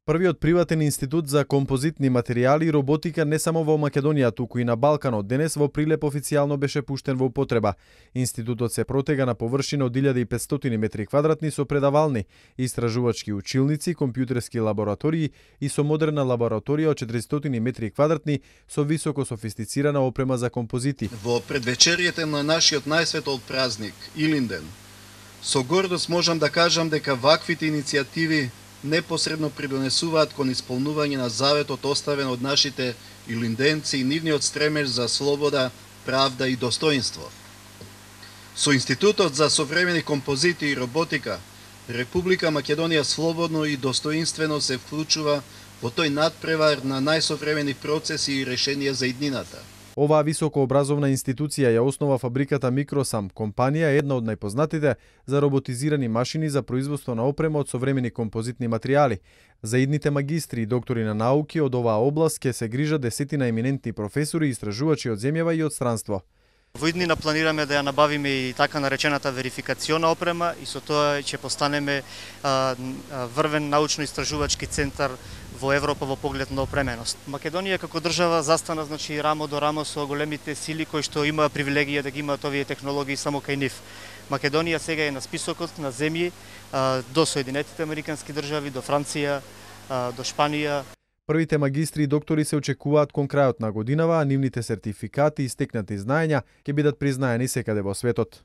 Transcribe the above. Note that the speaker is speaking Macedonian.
Првиот приватен институт за композитни материјали и роботика не само во Македонија, туку и на Балканот, денес во Прилеп официјално беше пуштен во употреба. Институтот се протега на површина од 1500 метри квадратни со предавални, истражувачки училници, компјутерски лаборатории и со модерна лабораторија од 400 метри квадратни со високо софистицирана опрема за композити. Во предвечерието на нашиот најсветол празник, Илинден, со гордост можам да кажам дека ваквите иницијативи непосредно придонесуваат кон исполнување на заветот оставен од нашите илинденци и нивниот стремеж за слобода, правда и достоинство. Со Институтот за современи композити и роботика, Република Македонија слободно и достоинствено се вклучува во тој надпревар на најсовремени процеси и решенија за иднината. Оваа високообразовна институција ја основа фабриката Микросам, компанија една од најпознатите за роботизирани машини за производство на опрема од современи композитни материјали. За идните магистри и доктори на науки од оваа област ќе се грижат десетина еминентни професори и истражувачи од земјава и од странство. Во иднина планираме да ја набавиме и така наречената верификациона опрема и со тоа ќе постанеме врвен научно-истражувачки центар во Европа во поглед на опременост. Македонија како држава застана рамо до рамо со големите сили кои што имаа привилегија да ги имаат овие технологии само кај нив. Македонија сега е на списокот на земји до Соединетите Американски држави, до Франција, до Шпанија. Првите магистри и доктори се очекуваат кон крајот на годинава, а нивните сертификати и стекнати знаења ќе бидат признаени секаде во светот.